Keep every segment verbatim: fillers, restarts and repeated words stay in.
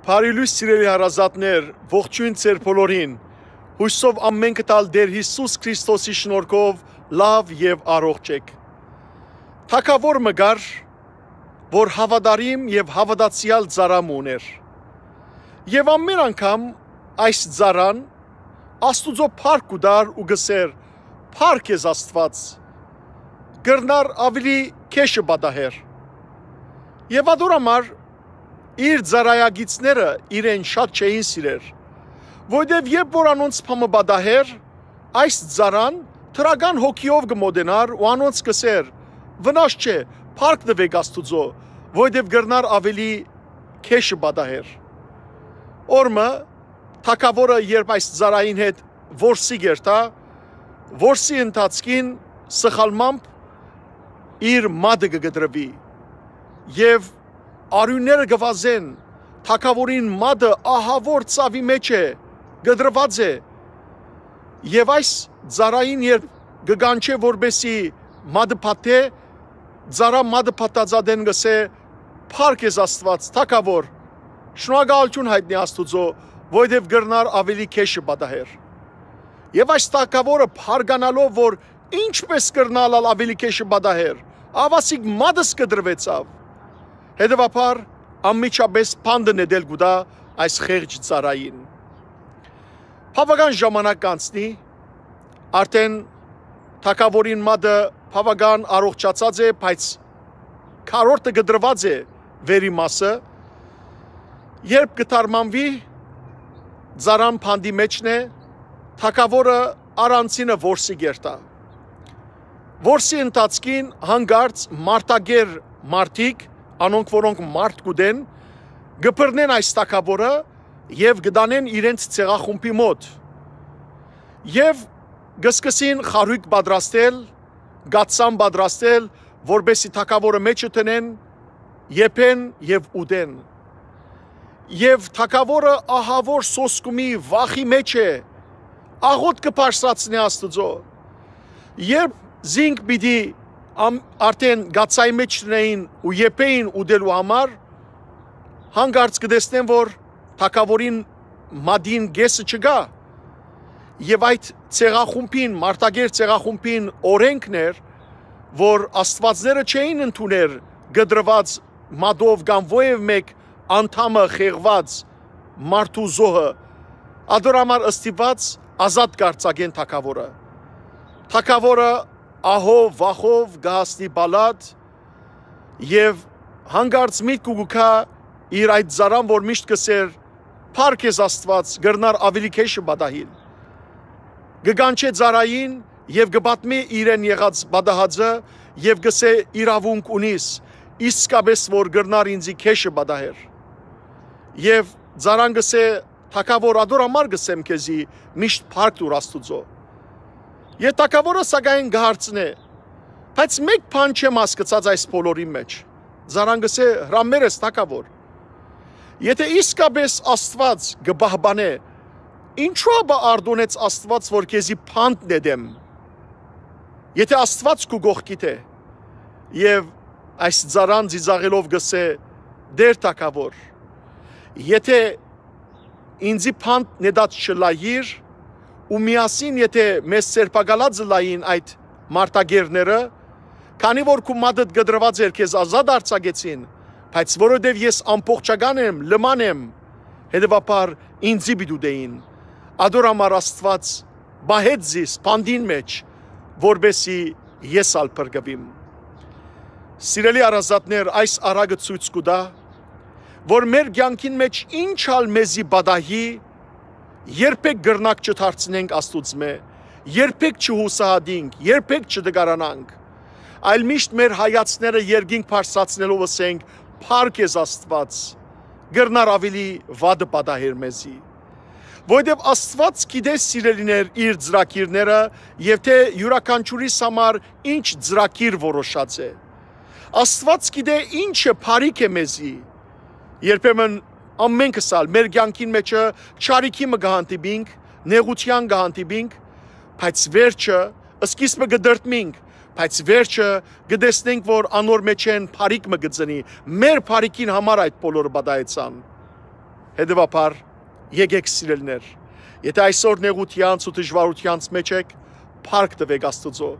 Բարի լոյս, սիրելի հարազատներ, ողջոյն ձեր բոլորին։ Յուսով ամէնքդ ալ Տէր Յիսուս Քրիստոսի շնորհքով լաւ եւ առողջ էք։ Թագաւոր մը կար, որ հաւատարիմ եւ հաւատացեալ ծառայ մը ունէր։ Եւ ամէն անգամ այս ծառան Աստուծոյ փառք կու տար ու կ'ըսէր. «Փառք ես Աստուած», կրնար աւելի քեշը պատահեր։ Եւ ատոր համար իր ծառայակիցները իրեն շատ չէին սիրեր, որտեւ երբ որ անոնց փամը պատահեր, այս ծառան դրական հոգիով կը մոտենար ու անոնց կ'ըսէր. «Վնաս չէ, փառք տուէք Աստուծոյ, որտեւ կրնար աւելի քեշը պատահեր»։ Օրը թագաւորը երբ այս ծառային հետ որսի կ'երթայ, որսի ընթացքին սխալմամբ իր մատը կը կտրուի եւ արիւնները կը վազեն, թագաւորին մատը ահաւոր ծաւի մէջ է, կտրուած է։ Եւ այս ծառային երբ կը կանչէ, որպէսի մատը փաթէ, ծառան մատը փաթած ատեն կ'ըսէ. «Փառք ես Աստուած, թագաւոր, շնորհակալութիւն յայտնի Աստուծոյ, որովհետեւ կրնար աւելի քեշը պատահեր»։ Եւ այս թագաւորը, բարկանալով որ ինչպէս կրնայ ալ աւելի քեշը պատահեր, աւասիկ մատս կտրուեցաւ։ Հետեւաբար անմիջապէս բանտը նետել կու տայ այս խեղճ ծառային։ Բաւական ժամանակ կ'անցնի, արդէն թագաւորին մատը բաւական առողջացած է, բայց քառորդը կտրուած է վերի մասը։ Երբ կը թարմանուի, ծառան բանտի մէջն է, թագաւորը առանցինը որսի կ'երթայ։ Որսի ընթացքին հանկարծ մարդակեր մարդիկ, անոնք որոնք մարդ կ'ուտեն, կը բռնեն այս թագաւորը եւ կը տանեն իրենց ցեղախումբի մօտ։ Եւ կը սկսին խարոյկ պատրաստել, կաթսան պատրաստել, որպէսի թագաւորը մէջը դնեն, եփեն եւ ուտեն։ Եւ թագաւորը ահաւոր սոսկումի վախի մէջ է, աղօթքը բարձրացնէ Աստուծոյ։ Երբ զինք պիտի ամ-, արդէն կաթսայի մէջ դնէին ու եփէին ուտելու համար, հանկարծ կը տեսնեն որ թագաւորին մատին կէսը չկայ։ Եւ այդ ցեղախումբին, մարդակեր ցեղախումբին օրէնքն էր, որ աստուածները չէին ընդուներ կտրուած մատով կամ որեւէ մէկ անդամը խեղուած մարդու զոհը, ատոր համար ստիպուած ազատ կ'արձակեն թագաւորը։ Թագաւորը ահով վախով կը հասնի պալատ եւ հանկարծ միտքը կու գայ իր այդ ծառան, որ միշտ կ'ըսէր. «Փառք ես Աստուած, կրնար աւելի քեշը պատահիլ»։ Կը կանչէ ծառային եւ կը պատմէ իրեն եղած պատահածը եւ կ'ըսէ. «Իրաւունք ունիս, իսկապէս որ կրնար ինծի քեշը պատահեր»։ Եւ ծառան կ'ըսէ. «Թագաւոր, ատոր համար կ'ըսեմ քեզի, միշտ փառք տուր Աստուծոյ»։ Եւ թագաւորը սակայն կը հարցնէ. «Բայց մէկ բան չեմ հասկցած այս բոլորին մէջ»։ Ծառան կ'ըսէ. «Հրամեր ես, թագաւոր։ Եթէ իսկապէս Աստուած կը պահպանէ, ինչո՞ւ ապա արտոնեց Աստուած որ քեզի բանտ նետեմ, եթէ Աստուած քու կողքիդ է»։ Եւ այս ծառան ծիծաղելով կ'ըսէ. «Տէր թագաւոր, եթէ ինծի բանտ նետած չըլլայիր ու միասին եթէ մեզ սերբակալած ըլլային այդ մարդակերները, քանի որ քու մատդ կտրուած էր, քեզ ազատ արձակեցին, բայց որովհետեւ ես ամբողջական եմ, լման եմ, հետեւաբար ինծի պիտի ուտեին։ Ատոր համար Աստուած պահեց զիս բանտին մէջ, որպէսի ես ալ փրկուիմ»։ Սիրելի հարազատներ, այս առակը ցոյց կու տայ, որ մեր կեանքին մէջ ինչ ալ մեզի պատահի, երբեք կրնակ չդարձնենք Աստուծմէ, երբեք չյուսահատենք, երբեք չտկարանանք, այլ միշտ մեր հայացքները երկինք բարձրացնելով ըսենք. «Փառք ես Աստուած, կրնար աւելի վատը պատահեր մեզի»։ Որովհետեւ Աստուած գիտէ, սիրելիներ, իր ծրագիրները եւ թէ իւրաքանչիւրիս համար ինչ ծրագիր որոշած է։ Աստուած գիտէ ինչը բարիք է մեզի։ Երբեմն ամէնքս ալ մեր կեանքին մէջը չարիքի մը կը հանդիպինք, նեղութեան կը հանդիպինք, բայց վերջը, սկիզբը կը դրդմինք, բայց վերջը կը տեսնենք որ անոր մէջէն բարիք մը կը ծնի։ Մեր բարիքին համար այդ բոլորը պատահեցան։ Հետեւաբար, եկէք, սիրելիներ, եթէ այսօր նեղութեանց ու դժուարութեանց մէջ էք, փառք տուէք Աստուծոյ։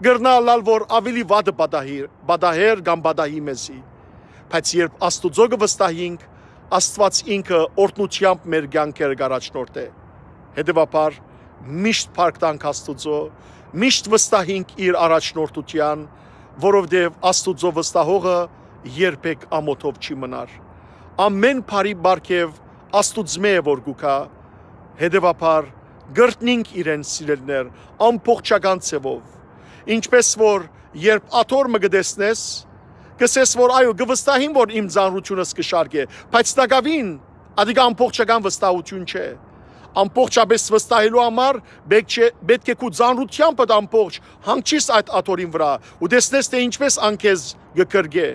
Կրնայ ըլլալ որ աւելի վատը պատահի, պատահեր կամ պատահի մեզի, բայց երբ Աստուծոյ կը վստահինք, Աստուած ինքը օրհնութեամբ մեր կեանքերը կ'առաջնորդէ։ Հետեւաբար, միշտ փառք տանք Աստուծոյ, միշտ վստահինք իր առաջնորդութեան, որովհետեւ Աստուծոյ վստահողը երբեք ամօթով չի մնար։ Ամէն բարի պարգեւ Աստուծմէ է որ կու գայ, հետեւաբար, կրտնինք իրեն, սիրելիներ, ամբողջական ձեւով։ Ինչպէս որ երբ աթոռ մը կը տեսնես, կ'ըսես որ այո, կը վստահիմ որ իմ ծանրութիւնս կը շարքէ, բայց տակաւին ատիկա ամբողջական վստահութիւն չէ։ Ամբողջապէս վստահելու համար պէտք չէ, պէտք է քու ծանրութեամբդ ամբողջ հանգչիս այդ աթոռին վրայ ու տեսնես թէ ինչպէս ան քեզ կը կրկէ։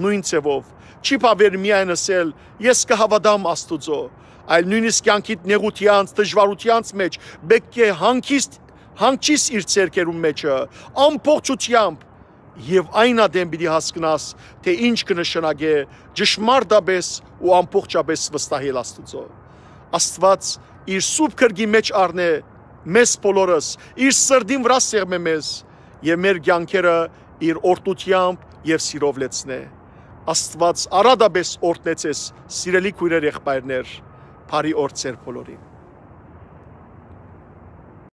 Նոյն ձեւով, չի բաւեր միայն ըսել. «Ես կը հաւատամ Աստուծոյ», այլ նոյնիսկ կեանքիդ նեղութեանց, դժուարութեանց մէջ պէտք է հանգիստ, հանգչիս իր ձեռքերուն մէջը, ամբողջութեամբ, եւ այն ատեն պիտի հասկնաս թէ ինչ կը նշանակէ ճշմարտապէս ու ամբողջապէս վստահել Աստուծոյ։ Աստուած իր սուրբ գրկի մէջ առնէ մեզ բոլորս, իր սրտին վրայ սեղմէ մեզ եւ մեր կեանքերը իր օրհնութեամբ եւ սիրով լեցնէ։ Աստուած առատապէս օրհնեցես, սիրելի քոյրեր, եղբայրներ, բարի օր ձեր բոլորին։